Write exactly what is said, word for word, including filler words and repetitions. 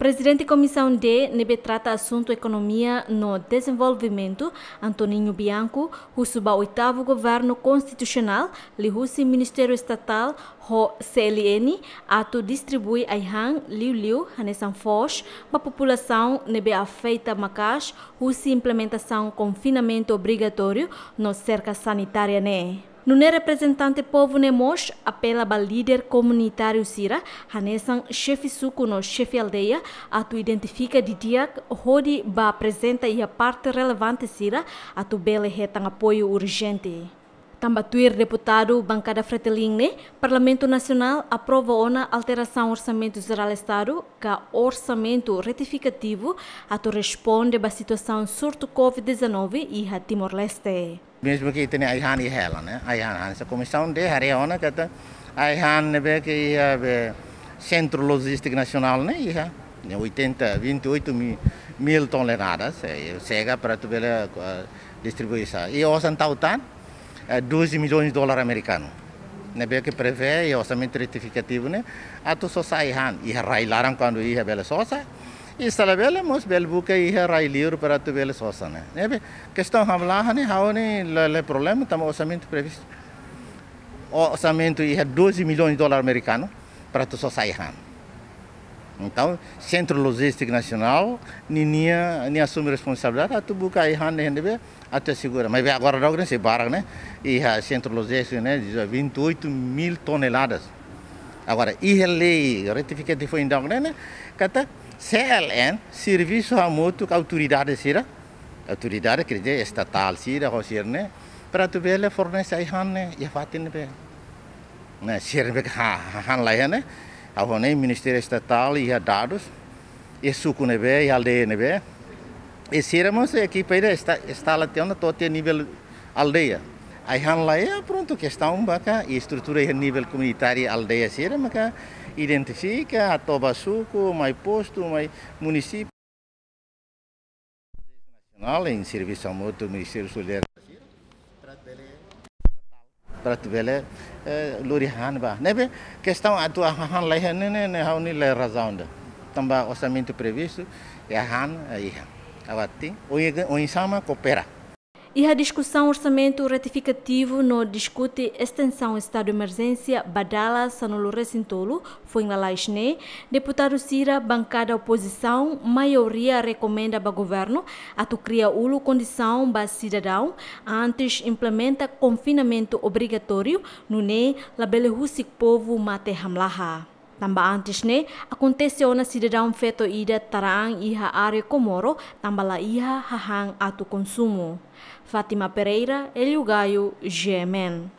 Prezidente Komisaun D ne'ebé trata asuntu ekonomia no dezenvolvimentu, Antoninho Bianco, husu ba oitavu governu konstitusionál, liuhusi Ministériu Estatál ho C L N, atu distribui ai-han liuliu hanesan foos ba populasaun ne'ebé afeta maka'as husi implementasaun konfinamentu obrigatóriu no serka sanitária ne'e. Nune'e reprezentante povu ne'e mós apela ba líder komunitáriu sira, hanesan xefe suku no xefe aldeia, atu identifika didi'ak hodi bá aprezenta iha parte relevante sira atu bele hetan apoiu urjente. Tanba tuir deputadu bankada Fretilin ne'e, Parlamentu Nasionál aprova ona alterasaun Orsamentu Jerál Estadu ka orsamentu retifikativu atu responde ba situasaun surtu covid dezanove iha Timor-Leste. Mezmu ke ita-nia ai-han iha hela, ne'e? Ai-han, hanesan Komisaun D haree ona katak ai-han ne'ebé ke iha be Sentru Lojístiku Nasionál ne'e iha, ne'e oitenta, vinte e oito mi-, mil toneladas, eh, xega para atu bele, eh, distribui sá. I osan tau tan, eh, doze milhões de dólar amerikanu. Ne'ebé ke prevee iha orsamentu retifikativu ne'e atu sosa ai-han, iha rai laran kuandu iha bele sosa, i se labele mós bele buka iha rai liur para atu bele sosa ne'e. Ne'ebé kestaun hamlaha ne'e ha'u ne'e la, la problema, tanba orsamentu previstu. Orsamentu iha doze milhões de dólar amerikanu para atu sosa ai-han. Entaun, Sentru Lojístiku Nasionál, ninia, nia asume responsabilidade atu buka ai-han ne'e, ne'ebé atu asegura. Maibé agora daudaun ne'e sei barak ne'e, iha Sentru Lojístiku ne'e, vinte e oito mil toneladas. Agora, iha lei retifikativu foin daudaun ne'e, ne'e, katak C L N, servisu hamutuk autoridade sira, autoridade, quer dizer, estatál sira, ho sira ne'e, para atu bele fornese ai-han ne'e, iha fatin ne'ebé. Ne'e, sira ne'ebé ke ha-, ha-, han laiha ne'e, ha'u hanoin Ministériu Estatál iha dadus, iha suku ne'ebé, iha aldeia ne'ebé. I sira mós ekipa ida esta-, instala tiha ona to'o tiha nivel aldeia. Ai-han laiha, prontu, kestaun ba ka, i estrutura iha nivel komunitáriu aldeia sira, maka identifika, hato'o ba suku, mai postu, mai munisípiu. Nasionál, em servisu hamutuk Ministériu Solidariedade, para atu bele, eh, lori han ba. Ne'ebé kestaun atu han laiha ne'e, ne'e, ne'e ha'u-nia la razaun ida. Tanba orsamentu previstu, iha han, eh, iha. Agora, oin, oinsá mak koopera. Iha diskusaun orsamentu retifikativu no diskute estensaun estadu emerjénsia ba dala sanulu-resin-tolu, foin lalais ne'e, deputadu sira bankada opozisaun maioria rekomenda ba governu atu kria uluk kondisaun ba sidadaun antes implementa konfinamentu obrigatóriu, nune'e labele husik povu mate hamlaha. Tanba antes ne'e, akontese ona sidadaun feto ida tara an iha área Comoro, tanba laiha hahán atu konsumu. Fátima Pereira, Hélio Gaio, G M N.